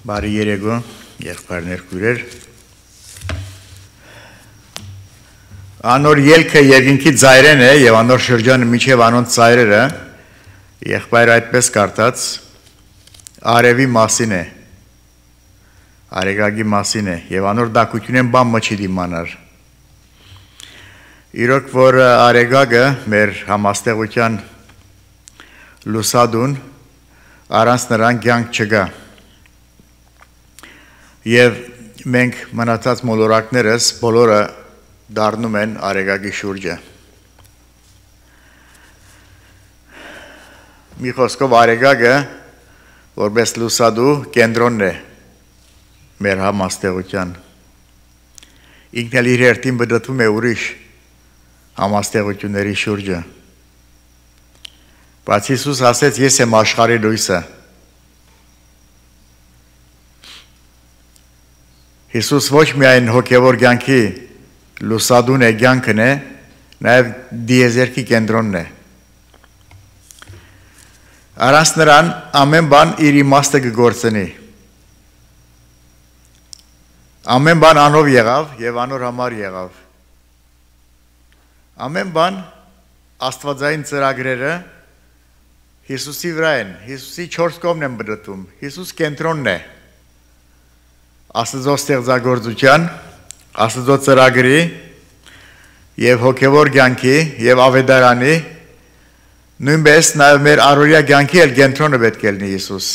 Բարի երեկո, եղբայրներ քույրեր։ Անոր ելքը երկինքի ծայրեն է եւ անոր շրջանը միջև անոնց ծայրերը, եղբայրը այդպես կարդաց, արևի մասին է, արեգագի մասին է եւ անոր դակությունեն բան մը չի դիմանար։ Իրոք որ արեգագը մեր համաստեղության լուսադուն առանց նրան կյանք չկա։ Եվ մենք մնացած մոլորակներս բոլորը դառնում են արեգագի շուրջը։ Մի խոսքով արեգագը որպես լուսադու կենտրոնն է մեր համաստեղության։ Ինքն էլ իր հերթին բդտվում է ուրիշ համաստեղությունների շուրջը։ Բայց Հիսուս ասեց, ես եմ աշխարհի լույսը։ Հիսուս ոչ միայն հոգևոր կյանքի լուսադուն է կյանքն է, նաև դիեզերքի կենտրոնն է։ Առանց նրան ամեն բան իր իմաստը կգործնի։ Ամեն բան անով եղավ եւ անոր համար եղավ։ Ամեն բան աստվածային ծրագրերը Հիսուսի վրա են, Հիսուսի 4 կողմն են բդտում, Հիսուս կենտրոնն է։ Աստծո ստեղծագործության, Աստծո ծրագրի եւ հոգևոր կյանքի եւ ավետարանի նույնպես նաեւ մեր առօրյա կյանքի էլ կենտրոնը պետք է լինի Հիսուս։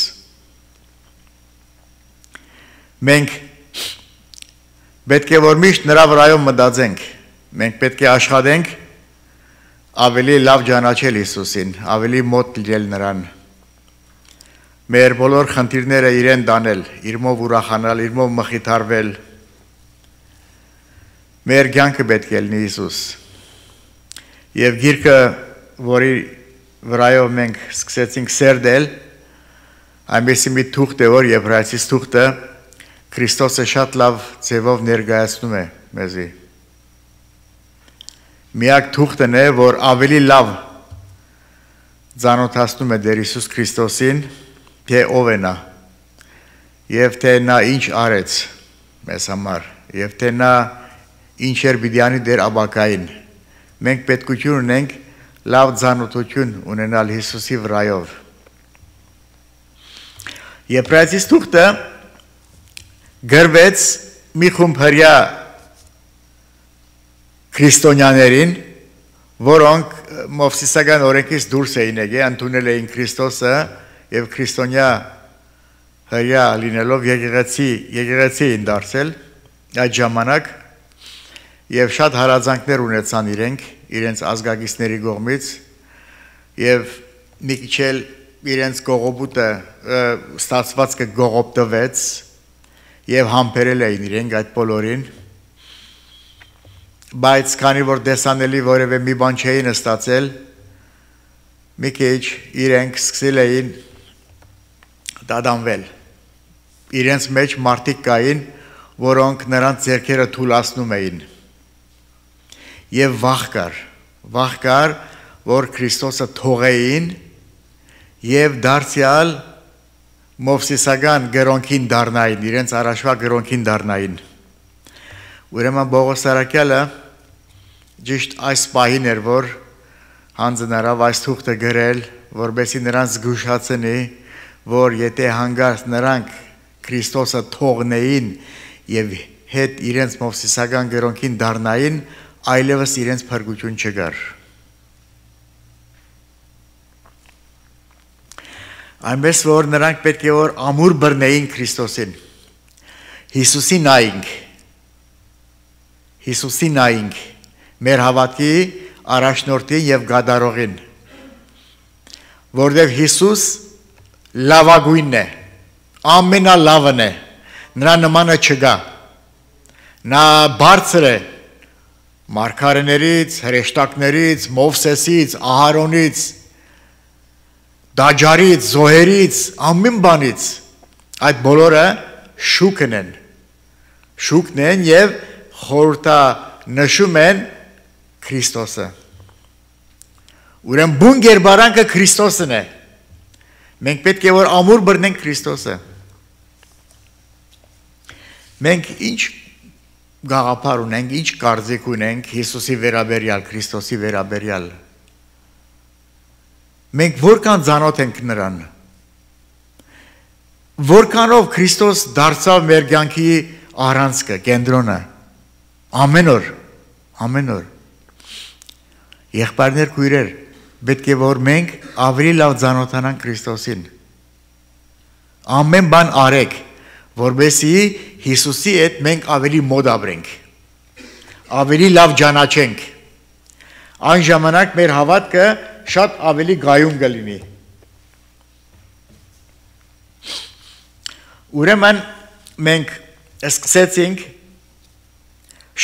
Մենք պետք է որ միշտ նրա վրայով մտածենք, մենք պետք է աշխատենք ավելի լավ ճանաչել Հիսուսին, ավելի մոտ լինել նրան։ Մեր բոլոր խնդիրները իրեն դանել, իրմով ուրախանալ, իրմով մխիթարվել։ Մեր կյանքը պետք է լինի Հիսուս։ Եվ գիրքը, որի վրայով մենք սկսեցինք սերդել, այնպեսի մի թուղթ է, որ Եբրայեցիս թուղթը Քրիստոսը շատ լավ ձևով ներկայացնում է մեզի։ Միակ թուղթն է, որ ավելի լավ ծանոթացնում է Տեր Հիսուս Քրիստոսին, թե ով է նա, և թե նա ինչ արեց մեզ համար, և թե նա ինչ էր պիտի անի դեր ապագային։ Մենք պետքություն ունենք լավ ծանոթություն ունենալ Հիսուսի վրայով։ Եբրայեցիս թուղթը գրվեց մի խումբ հրյա քրիստոնյաներին, որոնք Մովսիսական օրենքից դուրս էին եկել, ընդունել էին Քրիստոսը եւ քրիստոնյա հրյա լինելով եկեղեցի էին դարձել այդ ժամանակ եւ շատ հարազանքներ ունեցան իրենց ազգագիստների կողմից եւ մի քիչ էլ իրենց կողոպուտը ստացվածքը գողոպտվեց եւ համբերել էին իրենք այդ բոլորին, բայց քանի որ դեսանելի որևէ մի բան չէին ստացել, մի քիչ իրենք սկսել էին դադանվել։ Իրենց մեջ մարդիկ կային, որոնք նրանց ձեռքերը թուլացնում էին։ Եվ վախ կար, որ Քրիստոսը թողեին եւ դարձյալ Մովսիսական գրոնքին դառնային, իրենց առաջվա գրոնքին դառնային։ Ուրեմն Պողոս Արաքյալը ճիշտ այս պահին էր, որ հանձնարավ այս թուղթը գրել, որպեսզի նրանց զգուշացնի, որ եթե հանգարց նրանք Քրիստոսը թողնեին եւ հետ իրենց Մովսիսական գրոնքին դառնային, այլևս իրենց փրկություն չկար։ Այնպես որ նրանք պետք է որ ամուր բռնեին Քրիստոսին։ Հիսուսի նայինք, մեր հավատքի առաջնորդին եւ գադարողին, որտեղ Հիսուս լավագույնն է, ամենալավն է, նրա նմանը չկա, նա բարձր է մարգարեներից, հրեշտակներից, Մովսեսից, Ահարոնից, Դաջարից, Զոհերից, ամեն բանից, այդ բոլորը շուկն են եւ խորհրդանշում են Քրիստոսը։ Ուրեմն բուն գերբարանքը Քրիստոսն է։ Մենք պետք է որ ամուր բռնենք Քրիստոսը։ Մենք ինչ գաղափար ունենք, ինչ կարծիք ունենք Հիսուսի վերաբերյալ, Քրիստոսի վերաբերյալ։ Մենք որքան ծանոթ ենք նրան։ Որքանով Քրիստոս դարձավ մեր կյանքի առանցքը, կենտրոնը։ Ամեն օր։ Եղբայրներ, քույրեր, պետք է որ մենք ավելի լավ ծանոթանանք Քրիստոսին։ Ամեն բան արեք, որովհետեւ Հիսուսի հետ մենք ավելի մոտ ապրենք, ավելի լավ ճանաչենք։ Այն ժամանակ մեր հավատքը շատ ավելի գայուն կլինի։ Ուրեմն մենք սկսեցինք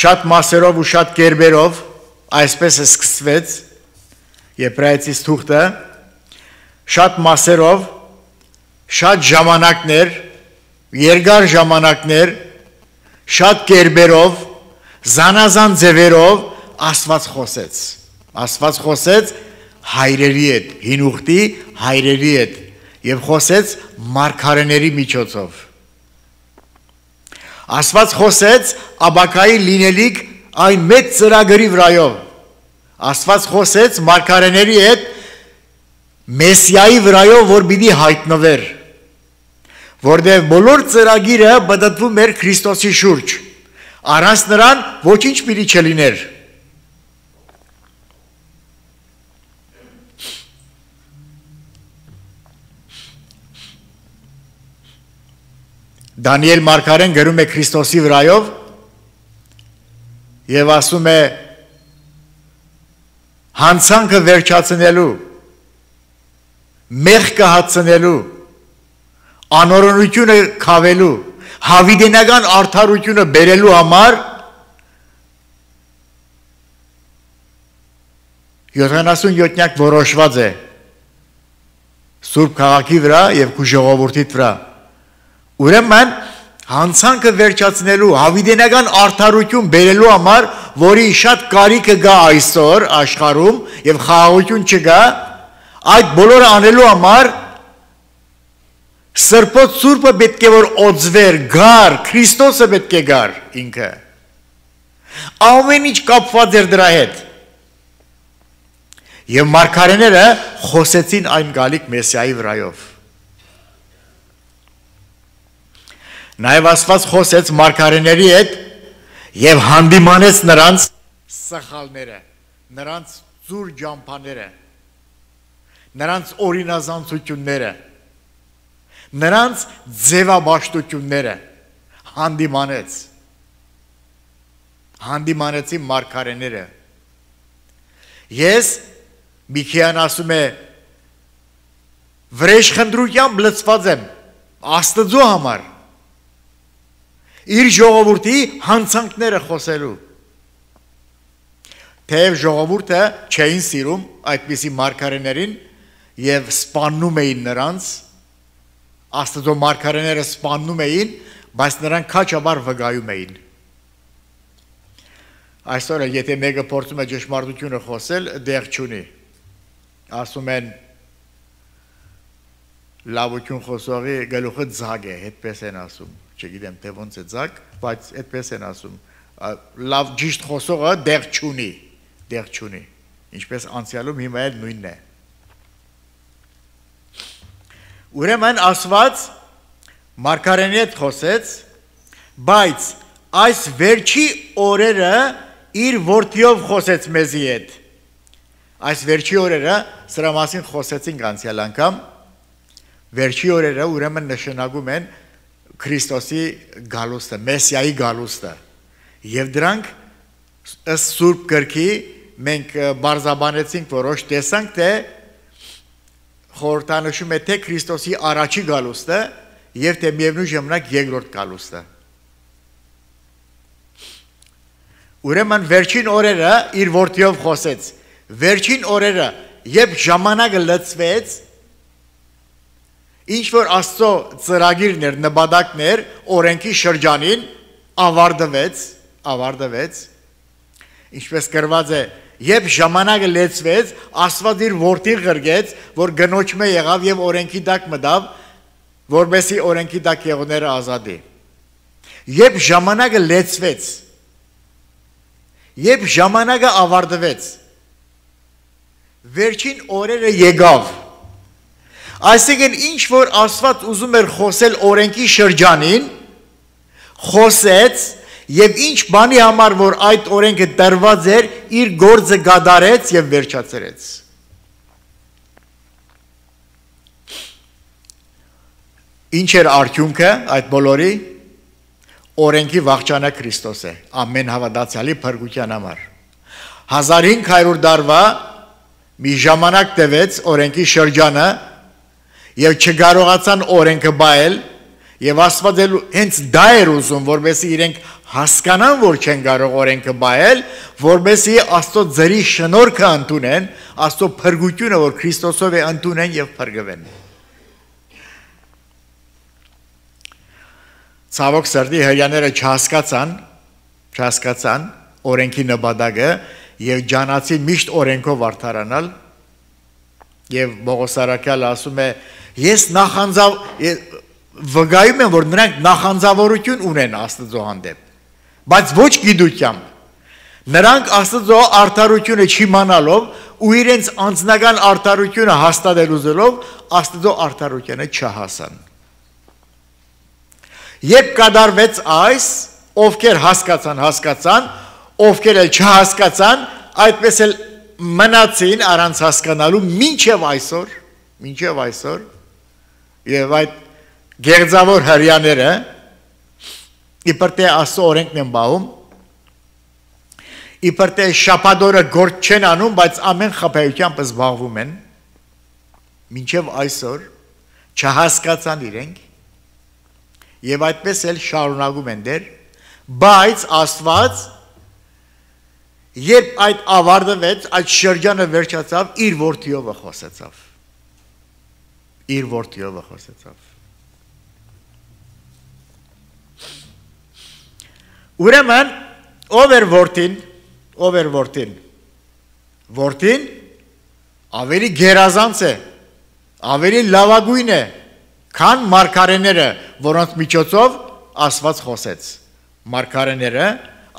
շատ մասերով ու շատ կերպերով, այսպես է սկսվեց Եբրայեցիս թուղթը, շատ մասերով, շատ ժամանակներ, երկար ժամանակներ, շատ կերպերով, զանազան ձևերով Աստված խոսեց հայրերի հետ, հին ուխտի հայրերի հետ եւ խոսեց մարգարեների միջոցով։ Աստված խոսեց Աբակայի լինելիք այն մեծ ծրագրի վրայով։ Աստված խոսեց մարգարեների հետ Մեսիայի վրայով, որ պիտի հայտնվեր, որտեղ բոլոր ծրագիրը բդդվում էր Քրիստոսի շուրջ, առանց նրան ոչինչ պիտի չլիներ։ Դանիել մարգարեն գրում է Քրիստոսի վրայով եւ ասում է հանցանքը վերջացնելու, մեղքը հացնելու, անօրենությունը քավելու, հավիտենական արդարությունը բերելու համար 77-նյակ որոշված է Սուրբ քաղաքի վրա եւ քու ժողովրդի վրա։ Ուրեմն հանցանքը վերջացնելու, հավիտենական արդարություն բերելու համար, որի շատ կարիքը գա այսօր աշխարհում եւ խաղաղություն չկա, այդ բոլորը անելու համար Սրբոց Սուրբը պետք է որ օծվեր, գար, Քրիստոսը պետք է գար ինքը։ Ամեն ինչ կապված էր դրա հետ։ Եվ մարգարեները խոսեցին այն գալիք Մեսիայի վրայով։ Նաև Աստված խոսեց մարգարեների հետ եւ հանդիմանեց նրանց սխալները, նրանց ծուր ջամփաները, նրանց օրինազանցությունները, նրանց ձևաբաշխությունները հանդիմանեցի մարգարեները։ Ես Միքիան ասում է վրեժխնդրությամբ լցված եմ Աստծո համար իր ժողովրդի հանցանքները խոսելու։ Թեև ժողովուրդը չէին սիրում այդպիսի մարգարեներին եւ սպանում էին նրանց, Աստծո մարգարեները սպանում էին, բայց նրանք քաչաբար վգայում էին։ Այսօր եթե մեկը փորձում է ճշմարտությունը խոսել, դեղ չունի։ Ասում են լավություն խոսողի գլուխը ձագ է, այդպես են ասում։ Չգիտեմ թե ոնց է ձագ, բայց այդպես են ասում։ Լավ ճիշտ խոսողը դեղ չունի։ Ինչպես անցյալում հիմա էլ նույնն է։ Ուրեմն Աստված մարգարեների հետ խոսեց, բայց այս վերջի օրերը իր որդիով խոսեց մեզի հետ։ Այս վերջի օրերը սրա մասին խոսեցինք անցյալ անգամ։ Վերջի օրերը ուրեմն նշանակում են Քրիստոսի գալուստը, Մեսիայի գալուստը։ Եվ դրանք ըստ Սուրբ գրքի մենք բարձաբանեցինք որոշ տեսանք, թե խորհրդանշում է թե Քրիստոսի առաջի գալուստը եւ թե միևնույն ժամանակ երկրորդ գալուստը։ Ուրեմն վերջին օրերը իր որդիով խոսեց։ Վերջին օրերը, երբ ժամանակը լցվեց, ինչ որ Աստծո ծրագիրն էր, նպատակն էր, օրենքի շրջանին ավարտվեց, ինչպես գրված է, երբ ժամանակը լեցվեց, Աստված իր որդին ղրգեց, որ գնոջմե եղավ եւ օրենքի տակ մտավ, որբեսի օրենքի տակ եղողները ազատի։ Երբ ժամանակը լեցվեց, երբ ժամանակը ավարտվեց, վերջին օրերը եկավ, այսինքն ինչ որ Աստված ուզում էր խոսել օրենքի շրջանին, խոսեց եւ ինչ բանի համար որ այդ օրենքը տրված էր, իր գործը կատարեց եւ վերջացրեց։ Ինչ էր արդյունքը այդ բոլորի օրենքի վախճանը Քրիստոս է, ամեն հավատացյալի փրկության համար։ 1500 տարվա մի ժամանակ տևեց օրենքի շրջանը եւ չկարողացան օրենքը բայել եւ Աստված հենց դա էր ուզում, որովհետեւ իրենք հասկանան, որ չեն կարող օրենքը բայել, որովհետեւ Աստծո ձերի շնորհքը ընդունեն, Աստծո փրկությունը, որ Քրիստոսով է ընդունեն եւ փրկվեն։ Ցավոք սրտի հрьяաները չհասկացան օրենքի նպատակը եւ ջանացին միշտ օրենքով արդարանալ եւ Պողոս առաքյալը ասում է ես վկայում եմ որ նրանք նախանձավորություն ունեն Աստծո հանդեպ բայց ոչ գիտությամբ նրանք Աստծո արդարությունը չիմանալով ու իրենց անձնական արդարությունը հաստատել ուզելով Աստծո արդարությանը չհասան Երբ կատարվեց այս, ովքեր հասկացան, ովքեր էլ չհասկացան, այդպես էլ մնացին առանց հասկանալու մինչև այսօր, եւ այդ գերձավոր հрьяաները իբր թե Աստծո օրենքն են բաղում, իբր թե շաբաթօրը գործ չեն անում, բայց ամեն խաբեությամբ զբաղվում են, մինչև այսօր չհասկացան իրենք Եվ այդպես էլ շարունակում են դեր, բայց Աստված, երբ այդ ավարտվեց, այդ շրջանը վերջացավ, իր որդիովը խոսեցավ։ Ուրեմն, ով էր որդին, որդին ավելի գերազանց է, ավելի լավագույն է, Քան մարգարեները, որոնց միջոցով Աստված խոսեց։ Մարգարեները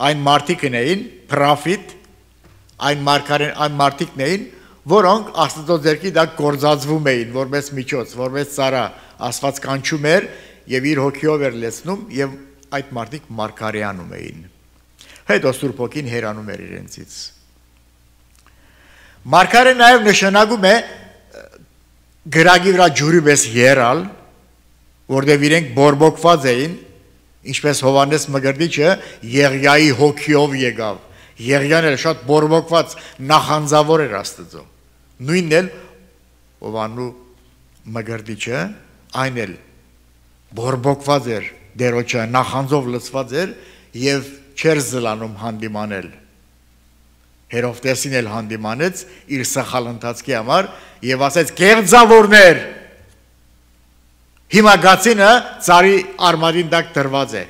այն մարդիկն էին, պրոֆետ, այն մարդիկն էին, որոնք Աստծո ձեռքի տակ գործածվում էին, որպես միջոց, որպես ծառա, Աստված կանչում էր եւ իր հոգիով էր լեցնում եւ այդ մարդիկ մարգարեանում էին։ Հետո Սուրբ Հոգին հեռանում էր իրենցից։ Մարգարե նաեւ նշանակում է գրագի վրա ջուրի պես եռալ որտեղ իրենք բորբոքված էին, ինչպես Հովանես Մկրտիչը Եղիայի հոգիով եկավ։ Եղիան էլ շատ բորբոքված նախանձավոր էր Աստծո։ Նույնն էլ Հովանու Մկրտիչը այն էլ բորբոքված էր դերոջը նախանձով լցված էր եւ չեր զլանում հանդիմանել։ Հերովտեսին էլ հանդիմանեց իր սխալ ընթացքի համար եւ ասեց կեղծավորներ Հիմա գացինը ծարի արմատին տակ դրված է։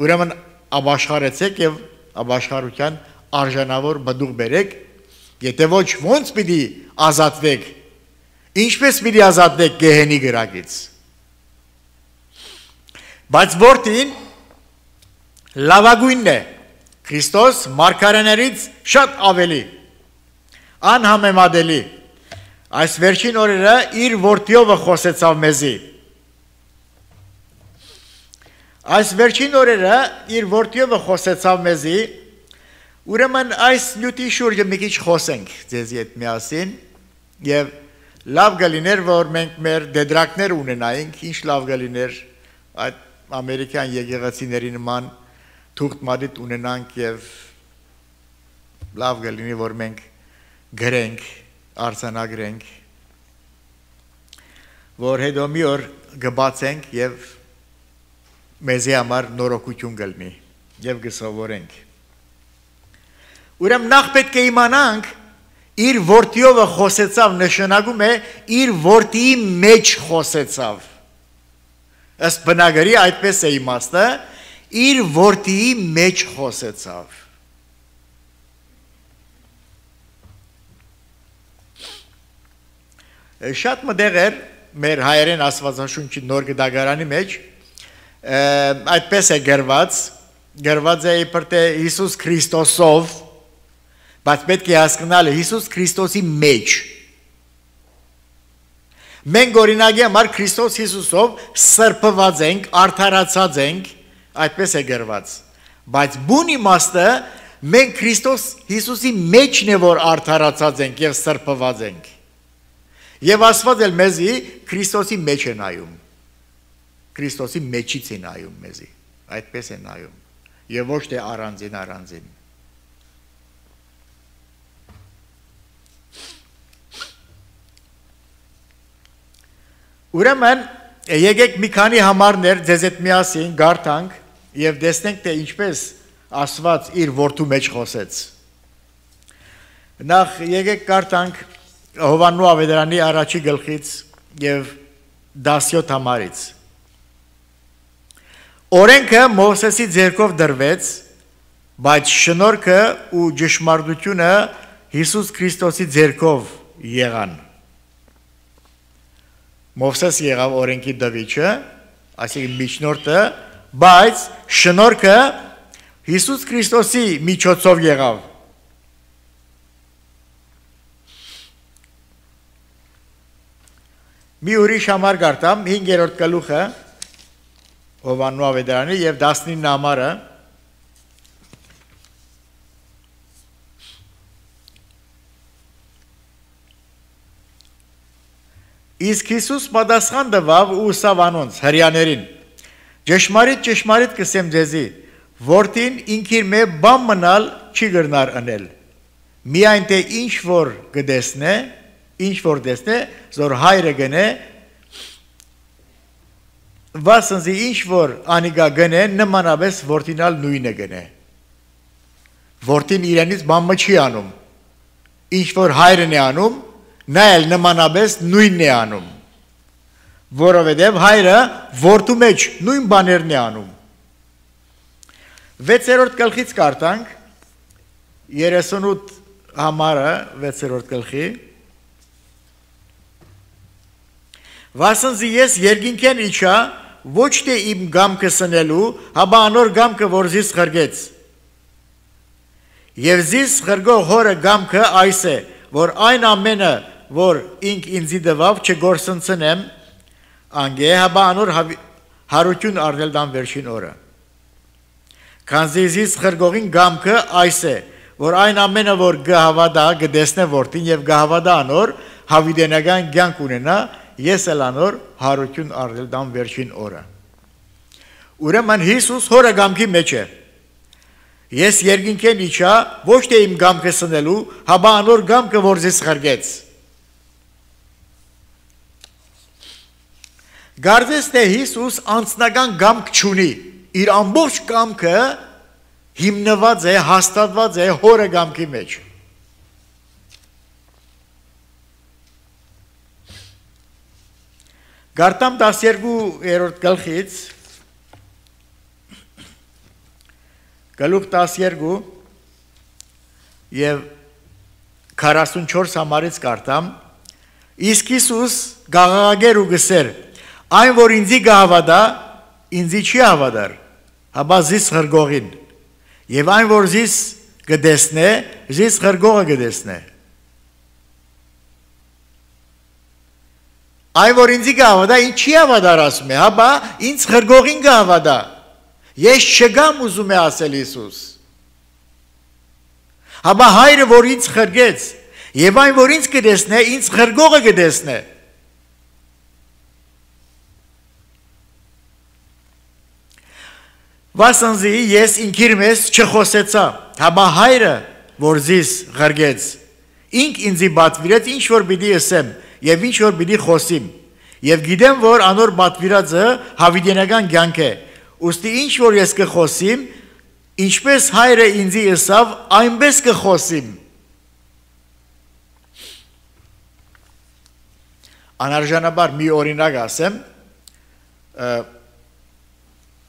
Ուրեմն ապաշխարեցեք եւ ապաշխարության արժանավոր բդուղ բերեք, եթե ոչ ոնց պիտի ազատվեք։ Ինչպես պիտի ազատվեք գեհենի գրակից։ Բայց որդին լավագույնն է։ Քրիստոս մարգարեներից շատ ավելի անհամեմատելի։ Այս վերջին օրերը իր որդիովը խոսեցավ մեզի։ Այս վերջին օրերը իր որդիովը խոսեցավ մեզի, ուրեմն այս նյութի շուրջը մի քիչ խոսենք ձեզի հետ միասին եւ լավ գլիներ որ մենք մեր դեդրակներ ունենայինք, ինչ լավ գլիներ այդ ամերիկյան եկեղեցիների նման թուղթ մատիտ ունենանք եւ լավ գլինի որ մենք գրենք, արձանագրենք, որ հետո մի օր կբացենք եւ մեզի համար նորոգություն գլնի եւ գսովորենք։ Ուրեմն նախ պետք է իմանանք իր որդիովը խոսեցավ նշանակում է իր որդիի մեջ խոսեցավ։ Ըստ բնագրի այդպես է իմաստը իր որդիի մեջ խոսեցավ։ Շատ մտեղ էր մեր հայերեն աստվածաշունչի նոր գդագարանի մեջ այդպես է գրված է իբր թե Հիսուս Քրիստոսով, բայց պետք է հասկանալ Հիսուս Քրիստոսի մեջ։ Մենք օրինակի համար Քրիստոս Հիսուսով սրբված ենք, արդարացած ենք, այդպես է գրված։ Բայց բուն իմաստը մենք Քրիստոս Հիսուսի մեջն է որ արդարացած ենք եւ սրբված ենք։ Եվ Աստված էլ մեզի Քրիստոսի մեջ է նայում։ Քրիստոսի մեջից է նայում մեզի, այդպես է նայում։ Եվ ոչ թե առանձին։ Ուրեմն եկեք մի քանի համարներ ձեզ հետ միասին գարտանք եւ տեսնենք թե ինչպես Աստված իր որդու մեջ խոսեց։ Նախ եկեք գարտանք Հովաննու ավետարանի առաջի գլխից եւ 17 համարից։ Օրենքը Մովսեսի ձեռքով դրվեց, բայց շնորհքը ու ճշմարտությունը Հիսուս Քրիստոսի ձեռքով եղան։ Մովսես եղավ օրենքի դավիճը, այսինքն միջնորդը, բայց շնորհքը Հիսուս Քրիստոսի միջոցով եղավ։ Մի ուրիշ համար գարտամ 5-րդ գլուխը Հովաննու ավետարանի եւ 19 համարը Իսկ Հիսուս պատասխան տվավ ու ուսավ անոնց հրյաներին. Ճշմարիտ կսեմ ձեզի, որդին ինքիր մե բան մնալ չի գրնար անել։ Միայն թե ինչ որ տեսնե, զոր հայրը գնե, վասնզի ինչ որ անիգա գնե, նմանապես որդինալ նույնը գնե։ Որդին իրենից բան չի անում։ Ինչ որ հայրն է անում, նա էլ նմանապես նույնն է անում, որովհետև հայրը որդու մեջ նույն բաներն է անում։ 6-րդ գլխից կարդանք 38 համարը 6-րդ գլխի Վասնզի ես երկինքեն իջա ոչ թե իմ գամքը սնելու, հաբա անոր գամքը որ զիս խրգեց։ Եվ զիս խրգող հորը գամքը այս է, որ այն ամենը որ ինք ինձի դվավ չգործընծնեմ, անգե հաբա անոր հարություն առնել դան վերջին օրը։ Քանզի զիս խրգողին գամքը այս է, որ այն ամենը որ գհավադա գտեսնե որդին եւ գհավադա անոր հավիդենական կյանք ունենա, ես էլ անոր հարություն առնել դան վերջին օրը։ Ուրեմն Հիսուս հորը գամքի մեջ է։ Ես երկինքեն իջա ոչ թե իմ գամքը սնելու, հաբա անոր գամքը որ զիս խրգեց։ Գարձես թե Հիսուս անձնական գամք չունի, իր ամբողջ գամքը հիմնված է, հաստատված է հորը գամքի մեջ։ Գարտամ 12-րդ գլխից, գլուխ 12 եւ 44 համարից գարտամ, իսկ Հիսուս գաղաղագեր ու գսեր, այն որ ինձի գահավադա, ինձի չի հավադար, հաբա զիս խրգողին, եւ այն որ զիս գտեսնե, զիս խրգողը գտեսնե։ Այն որ ինձի գահավադա, ինձ չի հավադար ասում է, հաբա ինձ խրգողին գահավադա։ Ես չգամ ուզում է ասել Հիսուս։ Հաբա հայրը որ ինձ խրգեց, եւ այն որ ինձ գտեսնե, ինձ խրգողը գտեսնե։ Վասնզի ես ինքիր մեզ չխոսեցա, հաբա հայրը, որ զիս խրգեց, ինք ինձի բատվիրեց, ինչ որ պիտի ըսեմ, եւ ինչ որ պիտի խոսիմ, եւ գիտեմ, որ անոր բատվիրածը հավիդենական կյանք է, ուստի ինչ որ ես կխոսիմ, ինչպես հայրը ինձի ըսավ, այնպես կխոսիմ։ Անարժանաբար մի օրինակ ասեմ,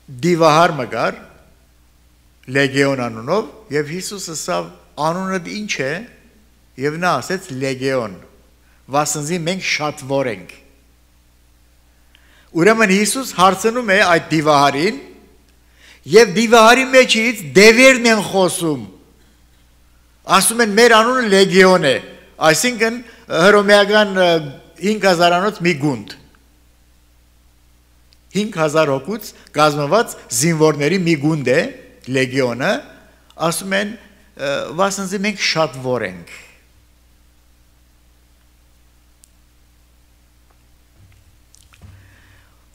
դիվահար մգար, լեգեոն անունով, և Հիսուս ասավ, անունդ ինչ է, և նա ասեց լեգեոն, վասնզի մենք շատ որ ենք։ Ուրեմն Հիսուս հարցնում է այդ դիվահարին եւ դիվահարի մեջից դևերն են խոսում։ Ասում են մեր անունը լեգիոն է, այսինքն հռոմեական 5000-անոց մի գունդ։ 5000 հոգուց կազմված զինվորների մի գունդ է լեգիոնը, ասում են վասնզի մենք շատ որ ենք։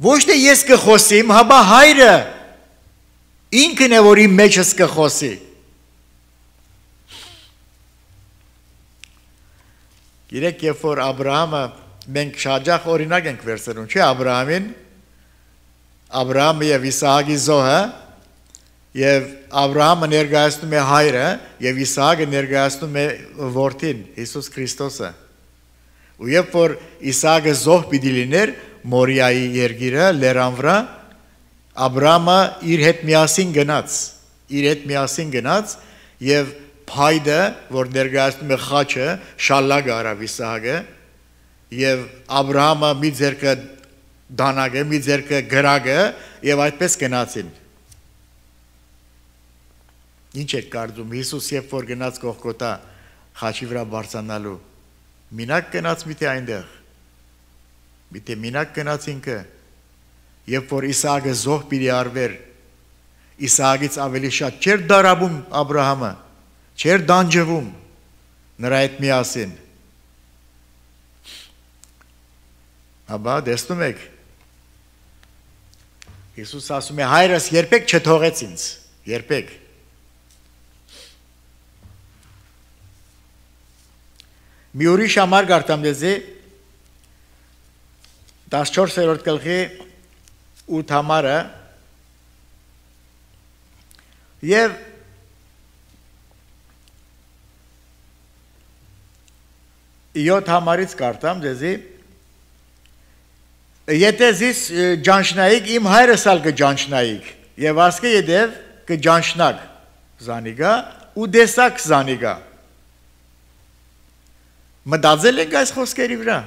Ոչ թե ես կխոսիմ, հաբա հայրը ինքն է, որ իմ մեջս կխոսի։ Գիտեք, երբ որ Աբրահամը, մենք շաջախ օրինակ ենք վերցնում, չէ՞ Աբրահամին, Աբրահամը եւ Իսահակի զոհը, եւ Աբրահամը ներկայացնում է հայրը, եւ Իսահակը ներկայացնում է որդին, Հիսուս Քրիստոսը։ Ու երբ որ Իսահակը զոհ պիտի լիներ Մորիայի երկիրը, լեռան վրա, Աբրահամը իր հետ միասին գնաց եւ փայդը, որ ներկայացնում է խաչը, շալլակը արավ Իսահակը, եւ Աբրահամը մի ձեռքը դանակը, մի ձեռքը գրագը, եւ այդպես գնացին։ Ինչ է կարծում Հիսուս, երբ որ գնաց Գողգոթա խաչի վրա բարձրանալու, մինակ գնաց միթե այնտեղ։ Միթե մինակ գնաց ինքը, երբ որ Իսահակը զոհ պիտի արվեր, Իսահակից ավելի շատ չէր դարաբում Աբրահամը, չէր դանջվում նրա հետ միասին։ Աբա տեսնում եք, Հիսուս ասում է հայրս երբեք չթողեց ինձ, երբեք։ Մի ուրիշ համար կարդամ դեզի 14-րդ գլխի 8 համարը եւ 7 համարից կարդամ դեզի եթե զիս ջանչնայիք իմ հայրս ալ կջանչնայիք եւ ասկե յետև կջանչնակ զանիգա ու դեսակ զանիգա մտածել եք այս խոսքերի վրա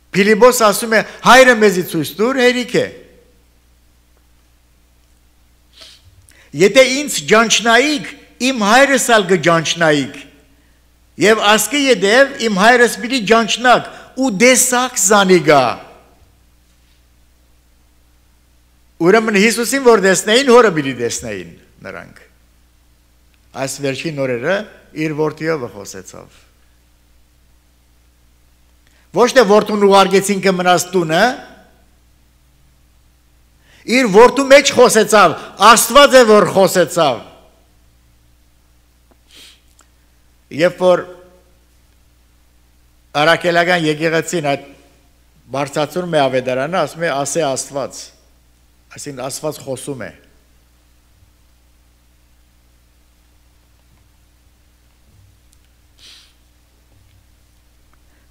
Փիլիպոս ասում է հայրը մեզի ցույց տուր հերիք է Եթե ինձ ջանչնայիք իմ հայրս ալ կջանչնայիք եւ ասկե յետև իմ հայրս պիտի ջանչնակ ու դեսակ զանիգա Ուրեմն Հիսուսին որ տեսնեին հորը պիտի տեսնեին նրանք Այս վերջին օրերը իր որդիով խոսեցավ Ոչ թե որդուն ուղարկեցին կմնաց տունը Իր որդու մեջ խոսեցավ Աստված է որ խոսեցավ Երբ որ Արաքելական եկեղեցին այդ բարձրացնում է ավետարանը, ասում է ասե Աստված, այսինքն Աստված խոսում է։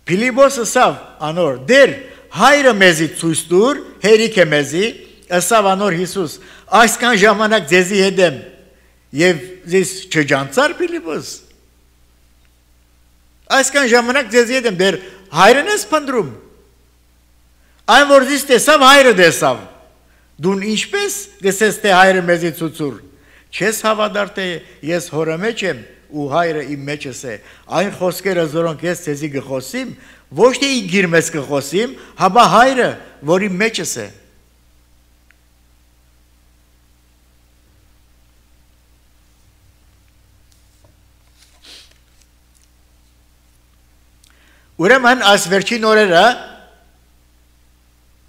Փիլիպոս ասավ անոր, դեր հայրը մեզի ցույց տուր, հերիք է մեզի, ասավ անոր Հիսուս, այսքան ժամանակ ձեզի հետ եմ, եւ ձեզ չջանցար Փիլիպոս։ Այսքան ժամանակ ձեզ հետ եմ դեր հայրն ես փնտրում Այն որ ձեզ տեսավ հայրը տեսավ Դուն ինչպես գսես թե հայրը մեզի ցուցուր Չես հավատար թե ես հորը մեջ եմ ու հայրը իմ մեջս է Այն խոսքերը որոնք ես ձեզի կխոսիմ ոչ թե իգիր մեզ կխոսիմ հաբա հայրը որ իմ մեջս է Ուրեմն այս վերջին օրերը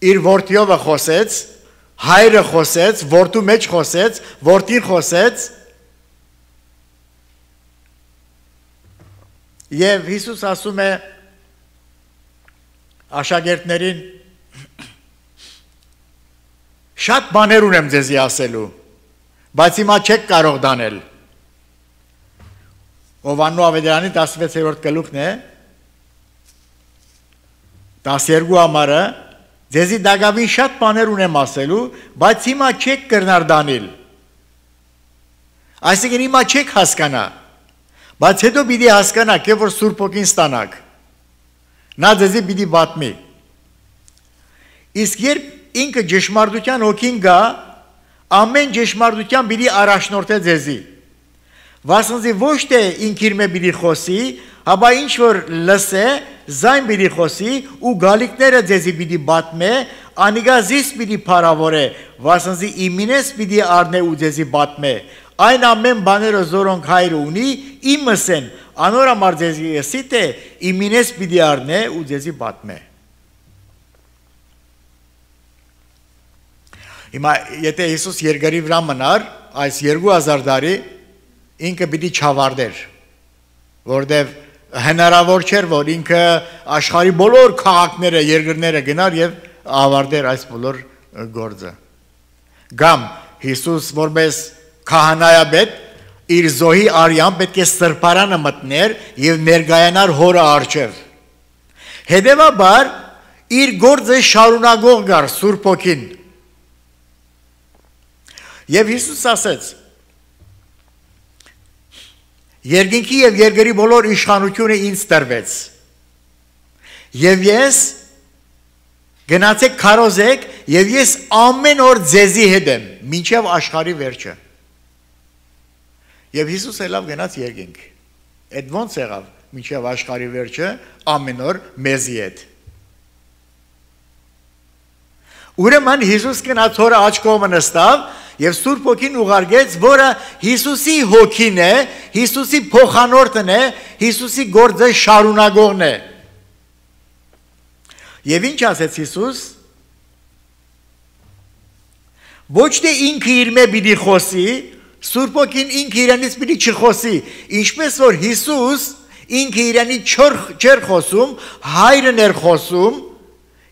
իր որդիովը խոսեց, հայրը խոսեց, որդու մեջ խոսեց, որդին խոսեց եւ Հիսուս ասում է աշակերտներին շատ բաներ ունեմ ձեզի ասելու, բայց հիմա չեք կարող դանել Հովհաննես ավետարանի 16-րդ գլուխն է 12 համարը ձեզի դակավին շատ բաներ ունեմ ասելու, բայց հիմա չեք կրնար դանել։ Այսինքն հիմա չեք հասկանա, բայց հետո պիտի հասկանաք, երբ որ Սուրբ Հոգին ստանաք։ Նա ձեզի պիտի պատմի։ Իսկ երբ ինքը ճշմարտության հոգին գա, ամեն ճշմարտության պիտի առաջնորդե ձեզի։ Վասնզի ոչ թե ինքիր մե պիտի խոսի, հաբա ինչ որ լսե, զայն պիտի խոսի ու գալիքները ձեզի պիտի բատմե, անիգա զիս պիտի փարավորե, վասնզի իմինես պիտի առնե ու ձեզի բատմե։ Այն ամեն բաները զորոնք հայրը ունի, իմս են, անոր համար ձեզի եսի թե իմինես պիտի առնե ու ձեզի բատմե։ Հիմա եթե Հիսուս երկրի վրա մնար, այս 2000 տարի ինքը պիտի չավարտեր, որտեվ հնարավոր չէր, որ ինքը աշխարհի բոլոր քաղաքները, երկրները գնար եւ ավարտեր այս բոլոր գործը։ Գամ Հիսուս որպես քահանայապետ իր զոհի արյան պետք է սրբարանը մտներ եւ ներգայանար հորը առջև։ Հետևաբար իր գործը շարունակող գար Սուրբ Հոգին։ Եվ Հիսուս ասեց. Երկինքի եւ երկրի բոլոր իշխանությունը ինձ տրվեց։ Եվ ես գնացեք քարոզեք եւ ես ամեն օր ձեզի հետ եմ, մինչեւ աշխարհի վերջը։ Եվ Հիսուս ելավ գնաց երկինք։ Այդ ոնց եղավ մինչեւ աշխարհի վերջը ամեն օր մեզի հետ։ Ուրեմն Հիսուս գնաց հորը աջ կողմը նստավ եւ Սուրբ Հոգին ուղարկեց, որը Հիսուսի հոգին է, Հիսուսի փոխանորդն է, Հիսուսի գործը շարունակողն է։ Եվ ինչ ասեց Հիսուս։ Ոչ թե ինքը իր մե պիտի խոսի, Սուրբ Հոգին ինքը իրանից պիտի չխոսի, ինչպես որ Հիսուս ինքը իրանից չէր խոսում, հայրն էր խոսում,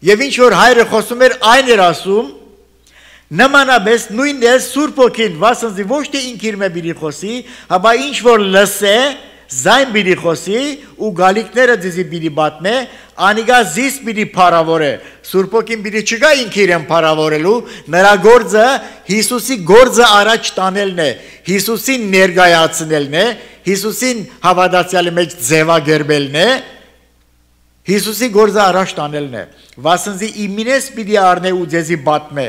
եւ ինչ որ հայրը խոսում էր, այն էր ասում, նմանապես նույնն է Սուրբ Հոգին, վասնզի ոչ թե ինքը իր մե պիտի խոսի, հաբա ինչ որ լսե, զայն պիտի խոսի ու գալիքները ձեզի պիտի բատնե, անիգա զիս պիտի փարավորե։ Սուրբ Հոգին պիտի չգա ինքը իրեն փարավորելու, նրա գործը Հիսուսի գործը առաջ տանելն է, Հիսուսին ներկայացնելն է, Հիսուսին հավատացյալի մեջ ձևակերպելն է, Հիսուսի գործը առաջ տանելն է։ Վասնզի իմինես պիտի առնե ու ձեզի բատմե։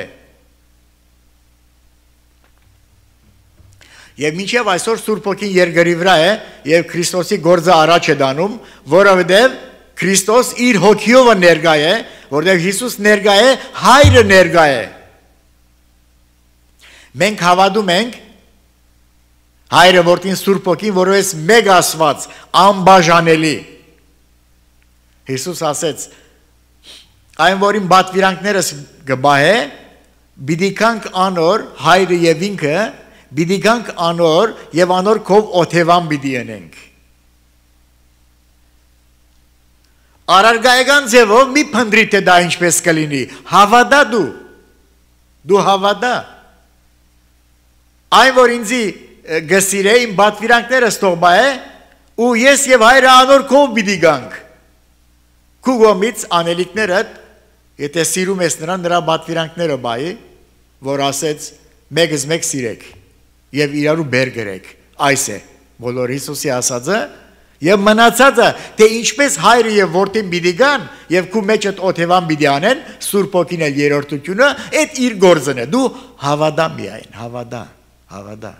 Եվ մինչև այսօր Սուրբ Հոգին երկրի վրա է եւ Քրիստոսի գործը առաջ է դանում, որովհետեւ Քրիստոս իր հոգիով ներկա է, որովհետեւ Հիսուս ներկա է, հայրը ներկա է։ Մենք հավատում ենք հայրը որդին Սուրբ Հոգին, որովհետեւ մեկ Աստված, անբաժանելի։ Հիսուս ասեց. այն որին բատվիրանքներս գբահե, պիտի կանք անոր հայրը եւ ինքը Բիդի գանք անոր եւ անոր քով օթևան բիդի ենենք։ Արարգայական ձևով մի փնդրի թե դա ինչպես կլինի։ Հավատա դու հավատա։ Այն որ ինձի գսիրե իմ բատվիրանքներս թողբա է ու ես եւ հայրը անոր քով բիդի գանք։ Քու գոմից անելիքներդ եթե սիրում ես նրա բատվիրանքները բայ, որ ասեց մեկս մեկ սիրեք եւ իրարու բեր գրեք, այս է բոլոր Հիսուսի ասածը եւ մնացածը թե ինչպես հայրը եւ որդին պիտի գան եւ քու մեջդ օթևան պիտի անեն Սուրբ Հոգին էլ երրորդությունը այդ իր գործն է դու հավատա միայն հավատա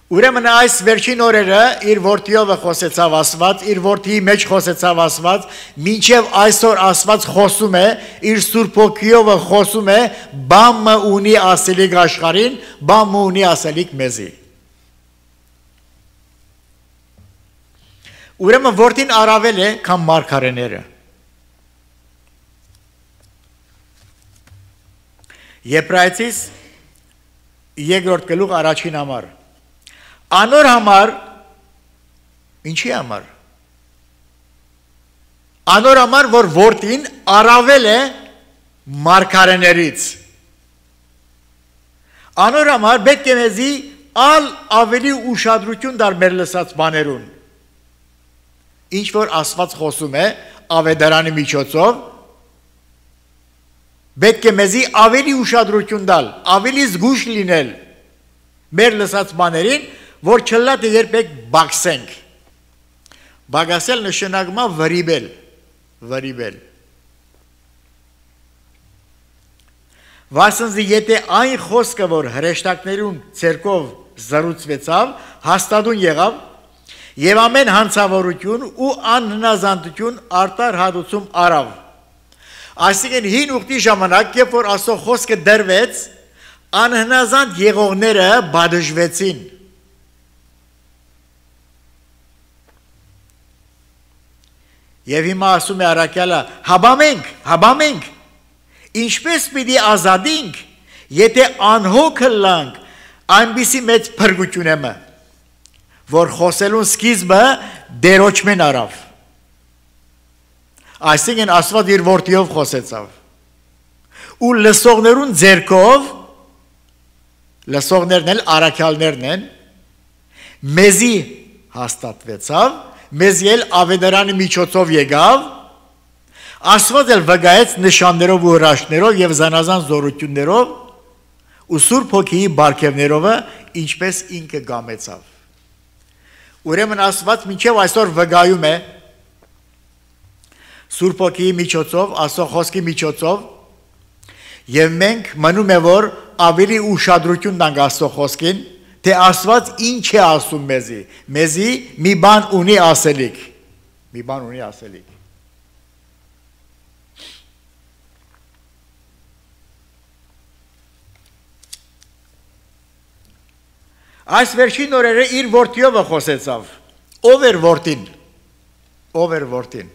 Ուրեմն այս վերջին օրերը իր որդիով խոսեցավ Աստված, իր որդիի մեջ խոսեցավ Աստված, մինչև այսօր Աստված խոսում է, իր Սուրբ Հոգիով խոսում է, բամը ունի ասելիք աշխարհին, բամը ունի ասելիք մեզի։ Ուրեմն որդին առավել է, քան մարգարեները։ Եբրայեցիս 2-րդ գլուխ առաջին համար Անոր համար ինչի համար Անոր համար որ որդին առավել է մարգարեներից Անոր համար պետք է մեզի ավելի ուշադրություն դար մեր լսած բաներուն Ինչ որ Աստված խոսում է ավետարանի միջոցով պետք է մեզի ավելի ուշադրություն տալ ավելի զգույշ լինել մեր լսած բաներին որ չլա թե երբեք բաքսենք։ Բագասել նշանակում է վրիբել։ Վասնզի եթե այն խոսքը, որ հրեշտակներուն ցերկով զրուցվեցավ, հաստատուն եղավ, եւ ամեն հանցավորություն ու անհնազանդություն արտար հատուցում արավ։ Այսինքն հին ուխտի ժամանակ, երբ որ Աստծո խոսքը դրվեց, անհնազանդ եղողները բադժվեցին։ Եվ հիմա ասում է առաքյալը, հաբամենք, ինչպես պիտի ազատենք, եթե անհոգը լանք, այնպիսի մեծ փրկություն եմ, որ խոսելուն սկիզբը դերոճմեն արավ։ Այսինքն Աստված իր որդիով խոսեցավ։ Ու լսողներուն ձեռքով, լսողներն էլ առաքյալներն են, մեզի հաստատվեցավ, մեզի էլ ավետարանի միջոցով եկավ, Աստված էլ վկայեց նշաններով ու հրաշքներով եւ զանազան զորություններով ու Սուրբ Հոգիի բարգեւներով, ինչպես ինքը գամեցավ։ Ուրեմն Աստված մինչև այսօր վկայում է Սուրբ Հոգիի միջոցով, Աստծո խոսքի միջոցով, եւ մենք մնում է որ ավելի ուշադրություն տանք Աստծո խոսքին, թե Աստված ինչ է ասում մեզի մի բան ունի ասելիք։ Այս վերջին օրերը իր որդիով խոսեցավ։ Ով էր որդին։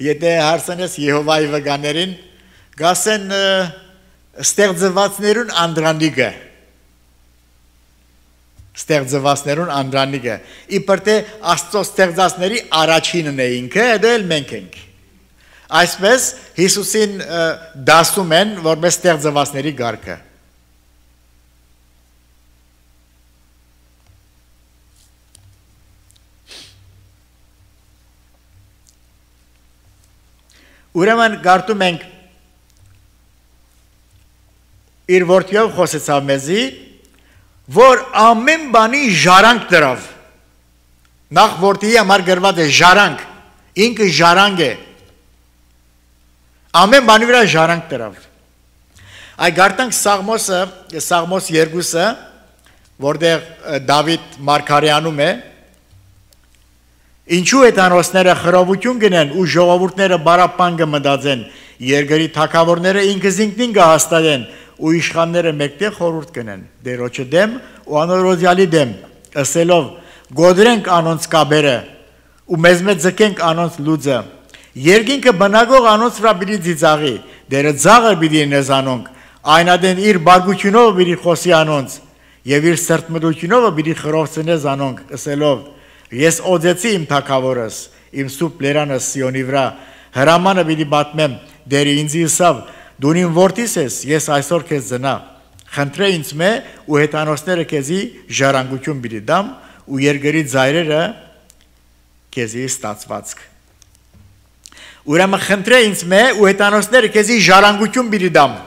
Եթե հարցնես Եհովայի վկաներին, գասեն ստեղծվածներուն անդրանիկը։ Իբր թե Աստծո ստեղծածների առաջինն է ինքը, դա էլ մենք ենք։ Այսպես Հիսուսին դասում են որպես ստեղծվածների գարկը։ Ուրեմն գարտում ենք իր որդիով խոսեցավ մեզի, որ ամեն բանի ժարանք դրավ։ Նախ որդիի համար գրված է ժարանք, ինքը ժարանք է։ Ամեն բանի վրա ժարանք դրավ։ Այ գարտանք Սաղմոս 2-ը, որտեղ Դավիթ մարգարեանում է, ինչու հեթանոսները խռովություն գնեն ու ժողովուրդները բարապան կմտածեն, երկրի թագավորները ինքզինքնին կհաստատեն ու իշխանները մեկտեղ խորհուրդ կնեն դերոջը դեմ ու անօրոզյալի դեմ, ըսելով գոդրենք անոնց կաբերը ու մեզ ձգենք անոնց լուծը, երկինքը բնագող անոնց վրա պիտի ծիծաղի, դերը ձաղը պիտի նեզանոնք, այնադեն իր բարգությունով պիտի խոսի անոնց եւ իր սրտմտությունով պիտի խռովցնես անոնք, ըսելով Ես օձեցի իմ թագավորս, իմ սուրբ լերանս Սիոնի վրա, հրամանը պիտի պատմեմ, դերի ինձ իսավ, դու իմ որդիս ես, ես այսօր քեզ ծնա, խնդրե ինձ մե ու հեթանոսները քեզի ժառանգություն պիտի դամ ու երկրի ծայրերը քեզի ստացվածք։ Ուրեմն խնդրե ինձ մե ու հեթանոսները քեզի ժառանգություն պիտի դամ։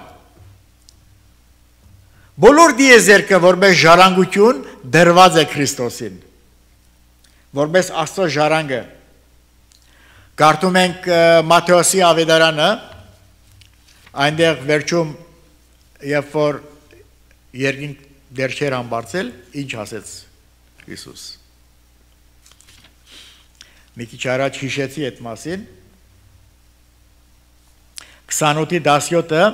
Բոլոր դիեզերքը որպես ժառանգություն դրված է Քրիստոսին։ Որպես Աստծո ժառանգը գարտում ենք Մատթեոսի ավետարանը, այնտեղ վերջում երբ որ երկինք դեռ չէր ամբարձել, ինչ ասեց Հիսուս։ Մի քիչ առաջ հիշեցի այդ մասին 28-17-ը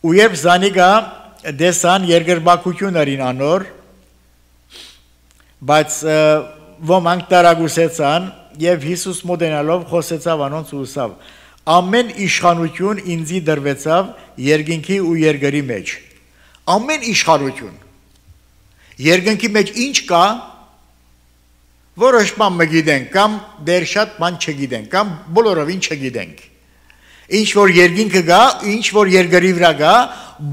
ու երբ Զանիկա դեսան երկրբակություն արին անոր, բայց ոմանք տարագուսեցան եւ Հիսուս մոդենալով խոսեցավ անոնց ու ասավ. ամեն իշխանություն ինձի դրվեցավ երկինքի ու երկրի մեջ։ Ամեն իշխանություն։ Երկինքի մեջ ինչ կա, որոշ բան մգիտենք, կամ դեռ շատ բան չգիտենք, կամ բոլորովին չգիտենք։ Ինչ որ երկինքը գա, ինչ որ երկրի վրա գա,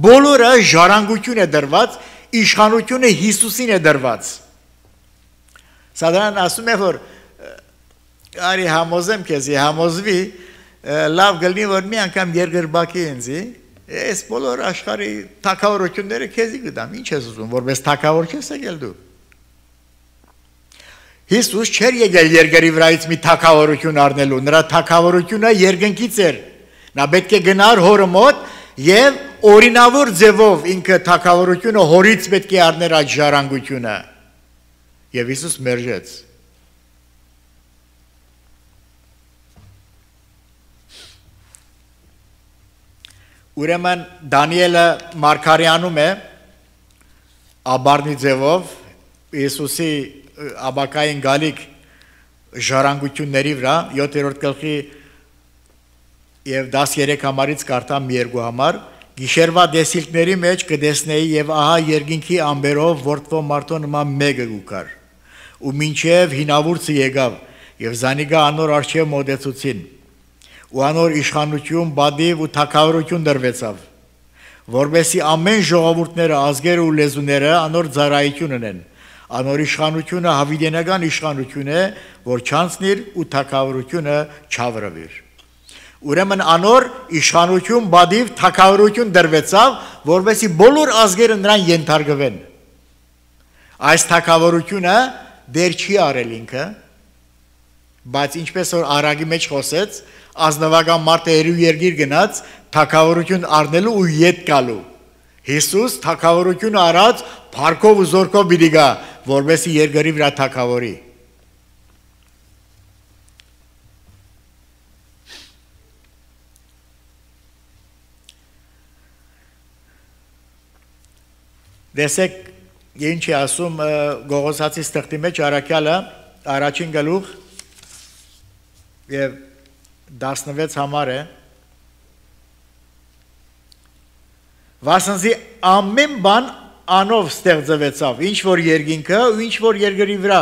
բոլորը ժառանգություն է դրված, իշխանությունը Հիսուսին է դրված։ Սադրանն ասում է, որ արի համոզեմ քեզի, համոզվի, լավ գլնի, որ մի անգամ երկրբակի ինձի, ես բոլոր աշխարհի թագավորությունները քեզի կտամ, ինչ ես ուզում, որպես թագավոր չես եկել դու։ Հիսուս չէր եկել երկրի վրայից մի թագավորություն առնելու, նրա թագավորությունը երկնքից էր։ Նա պետք է գնար հորը մոտ եւ օրինավոր ձևով ինքը թագավորությունը հորից պետք է առներ այդ ժառանգությունը։ Եվ Հիսուս մերժեց։ Ուրեմն Դանիելը Մարգարյանում է աբարնի ձևով Հիսուսի աբակային գալիք ժառանգությունների վրա 7-րդ գլխի եւ 13 համարից կարդամ մի երկու համար գիշերվա դեսիլքների մեջ կդեսնեի եւ ահա երկինքի ամբերով որդվո մարդու նման մեկը գուկար ու մինչեւ հինավուրցը եկավ եւ զանիգա անոր արչեւ մոդեցուցին ու անոր իշխանություն բադիվ ու թագավորություն դրվեցավ որովհետեւ ամեն ժողովուրդները ազգերը ու լեզուները անոր ծառայություն ունեն անոր իշխանությունը հավիտենական իշխանություն է որ չանցնիր ու թագավորությունը չավրվիր ուրեմն անոր իշխանություն բադիվ թագավորություն դրվեցավ որովհետեւ բոլոր ազգերը նրան ենթարկվեն այս թագավորությունը դեր չի արել ինքը բայց ինչպես որ արագի մեջ խոսեց ազնվական մարդը երու երկիր գնաց թագավորություն առնելու ու ետ գալու Հիսուս թագավորություն արած փառքով ու զորքով պիտի գա որովհետեւ երկրի վրա թագավորի Դեսեք ինչ է ասում Գողոսացի ստեղծի մեջ Արաքյալը առաջին գլուխ եւ 16 համար է Վասնզի ամեն բան անով ստեղծվեցավ ինչ որ երկինքը ու ինչ որ երկրի վրա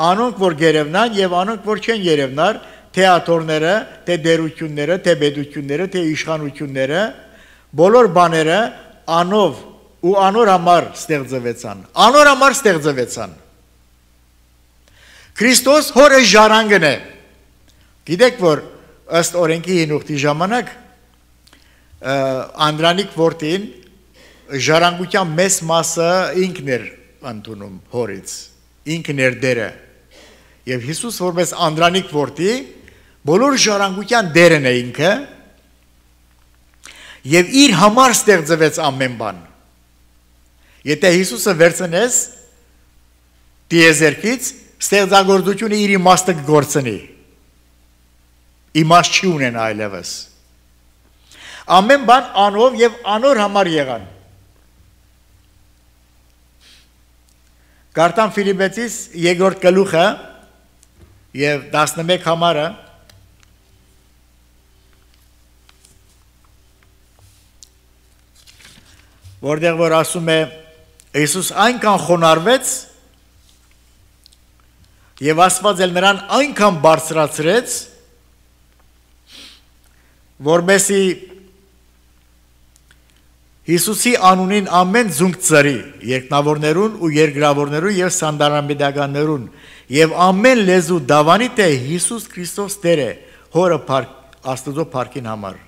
անոնք որ գերևնան եւ անոնք որ չեն երևնար թե աթորները թե դերությունները թե բեդությունները թե իշխանությունները բոլոր բաները անով ու անոր համար ստեղծվեցան Քրիստոս հորը ժառանգն է Գիտեք որ ըստ օրենքի հինուխտի ժամանակ Անդրանիկ որդին ժառանգության մեծ մասը ինքն էր ընդունում հորից ինքն էր դերը եւ Հիսուս որպես Անդրանիկ որդի բոլոր ժառանգության դերն է ինքը եւ իր համար ստեղծվեց ամեն բան Եթե Հիսուսը վերցնես դիեզերքից ստեղծագործությունը իր իմաստը կգործնի Իմաստ չի ունեն այլևս Ամեն բան անով եւ անոր համար եղան Կարդամ Ֆիլիպեցիս 2-րդ գլուխը եւ 11 համարը Որտեղ որ ասում է Հիսուս այնքան խոնարհվեց եւ Աստված էլ նրան այնքան բարձրացրեց որբեսի Հիսուսի անունին ամեն ձունկ ծրի երկնավորներուն ու երկրավորներուն եւ սանդարանբեդականներուն եւ ամեն լեզու դավանի թե Հիսուս Քրիստոս Տեր է հորը Աստծո փառքին համար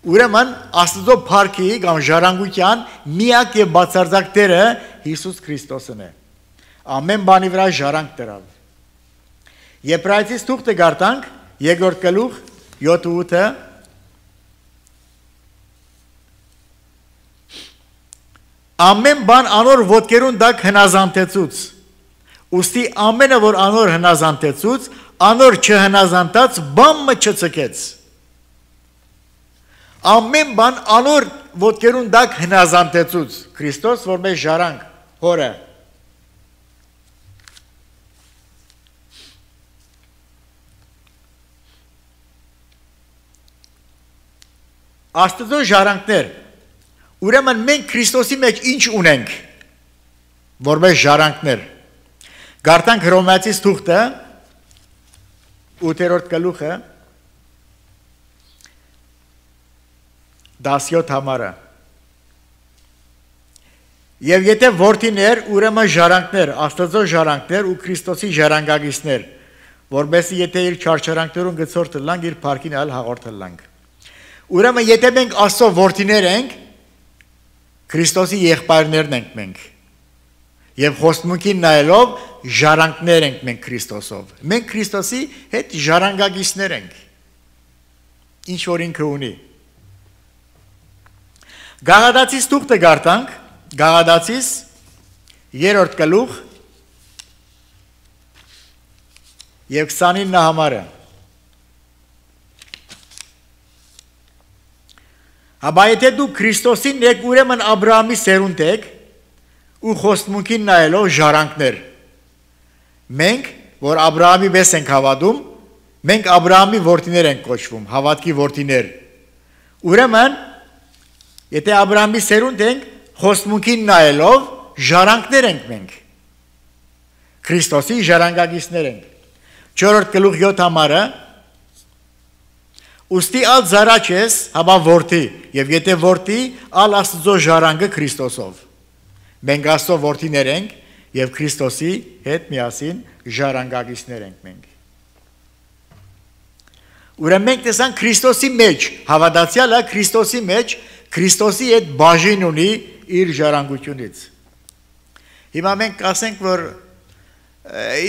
Ուրեմն Աստծո փառքի կամ ժառանգության միակ եւ բացարձակ Տերը Հիսուս Քրիստոսն է ամեն բանի վրա ժառանգ դրավ Եբրայեցիս թուղթը գարտանք 2-րդ գլուխ 7-8-ը Ամեն բան անոր ոտքերուն դակ հնազանդեցուց Ուստի ամենը որ անոր հնազանդեցուց անոր չհնազանդած բամը չծկեց Ամեն բան անոր ոտքերուն դակ հնազանդեցուց Քրիստոս որպես ժառանգ հորը Աստծո ժառանգներ Ուրեմն մենք Քրիստոսի մեջ ինչ ունենք որպես ժառանգներ Գարտանք Հռոմեացիս թուղթը 8-րդ գլուխը 17 համարը Եվ եթե որդիներ ուրեմն ժառանգներ Աստծո ժառանգներ ու Քրիստոսի ժառանգագիցներ որովհետեւ եթե իր չարչարանքներուն գծորտը լանք իր փառքին այլ հաղորդել լանք Ուրեմն եթե մենք Աստծո որդիներ ենք Քրիստոսի եղբայրներն ենք մենք Եվ խոստմունքին նայելով ժառանգներ ենք մենք Քրիստոսով։ Մենք Քրիստոսի հետ ժառանգագիցներ ենք։ Ինչ որ ինքը ունի։ Գաղադացիս թուղթը գարտանք, Գաղադացիս 3-րդ գլուխ եւ 29 համարը։ Հաբա եթե դու Քրիստոսին եք, ուրեմն Աբրահամի սերունդ եք ու խոստմունքին նայելով ժառանգներ։ Մենք, որ Աբրահամի պես ենք հավատում, մենք Աբրահամի որդիներ ենք կոչվում, հավատքի որդիներ։ Ուրեմն, եթե Աբրահամի սերունդ ենք, խոստմունքին նայելով ժառանգներ ենք մենք։ Քրիստոսի ժառանգագիցներ ենք։ 4-րդ գլուխ 7 համարը Ուստի ալ զարաչ ես, հաբա որդի, եւ եթե որդի, ալ Աստծո ժառանգը Քրիստոսով։ Մենք Աստծո որդիներ ենք եւ Քրիստոսի հետ միասին ժառանգագիցներ ենք մենք։ Ուրեմն մենք տեսանք Քրիստոսի մեջ, հավատացյալը Քրիստոսի մեջ, Քրիստոսի հետ բաժին ունի իր ժառանգությունից։ Հիմա մենք ասենք, որ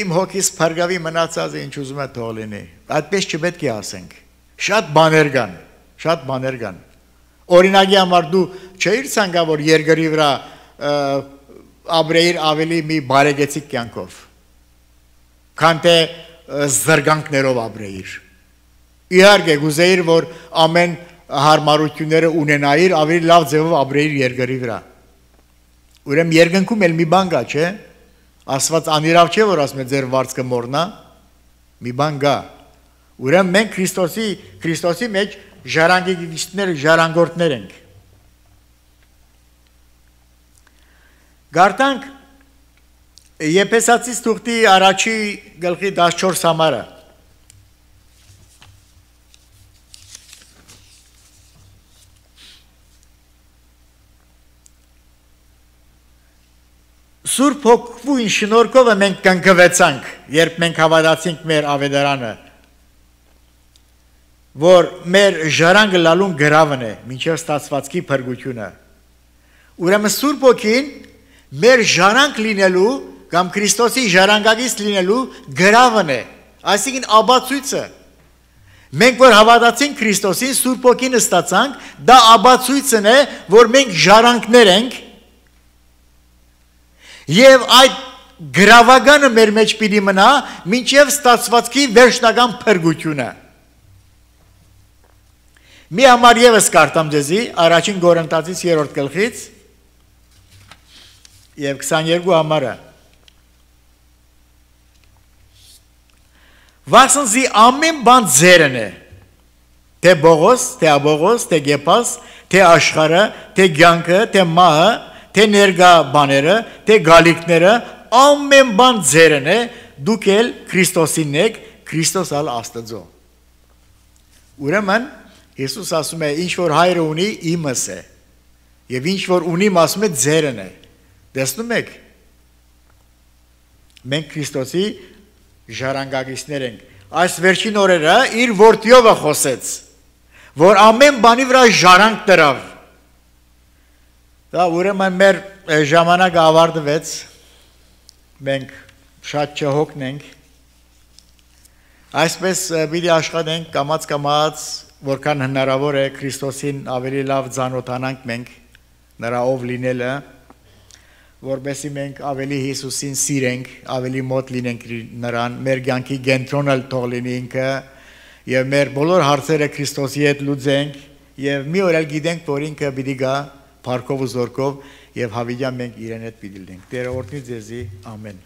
իմ հոգիս փարգավի մնացած է ինչ ուզում է թող լինի։ Այդպես չպետք է ասենք։ Շատ բաներ կան։ Օրինակի համար դու չէիր ցանկա որ երկրի վրա ապրեիր ավելի մի բարեկեցիկ կյանքով։ Քան թե զրկանքներով ապրեիր։ Իհարկե գուզեիր որ ամեն հարմարությունները ունենայիր, ավելի լավ ձևով ապրեիր երկրի վրա։ Ուրեմն երկնքում էլ մի բան կա, չէ՞։ Աստված անիրավ չէ որ ասում է ձեր վարձքը մորնա, մի բան կա։ Ուրեմն մենք Քրիստոսի մեջ ժառանգորդներ ենք։ Գարտանք Եփեսացիս թուղթի առաջի գլխի 14 համարը։ Սուրբ Հոգուին շնորհքով մենք կնքվեցանք, երբ մենք հավատացինք մեր ավետարանը, որ մեր ժառանգը լալուն գրավն է, մինչև ստացվածքի փրկությունը։ Ուրեմն Սուրբ Հոգին մեր ժառանգ լինելու կամ Քրիստոսի ժառանգագից լինելու գրավն է, այսինքն աբացույցը։ Մենք որ հավատացինք Քրիստոսին, Սուրբ Հոգին ստացանք, դա աբացույցն է, որ մենք ժառանգներ ենք։ Եվ այդ գրավականը մեր մեջ պիտի մնա մինչև ստացվածքի վերջնական փրկությունը։ Մի համար եւս կարդամ ձեզի առաջին Կորինթացիս 3-րդ գլխից եւ 22 համարը։ Վասնզի ամեն բան ձերն է, թե Բողոս, թե Աբողոս, թե Գեփաս, թե աշխարհը, թե ցանկը, թե մահը, թե ներկա բաները, թե գալիքները, ամեն բան ձերն է, դուք էլ Քրիստոսին եք, Քրիստոս ալ Աստծո։ Ուրեմն Հիսուս ասում է ինչ որ հայրը ունի իմս է, եւ ինչ որ ունիմ ասում է ձերն է։ Տեսնում եք։ Մենք Քրիստոսի ժառանգագիցներ ենք։ Այս վերջին օրերը իր որդիով է խոսեց, որ ամեն բանի վրա ժառանգ դրավ։ Դա ուրեմն մեր ժամանակը ավարտվեց, մենք շատ չհոգնենք, այսպես պիտի աշխատենք կամաց, որքան հնարավոր է Քրիստոսին ավելի լավ ծանոթանանք մենք, նրա ով լինելը, որպեսզի մենք ավելի Հիսուսին սիրենք, ավելի մոտ լինենք նրան, մեր կյանքի կենտրոնը թող լինի ինքը, եւ մեր բոլոր հարցերը Քրիստոսի հետ լուծենք, եւ մի օր էլ գիտենք, որ ինքը պիտի գա Փառքով ու զորքով եւ հավիտյան մենք իրեն հետ պիտի լինենք։ Տերը օրհնի ձեզի, ամեն։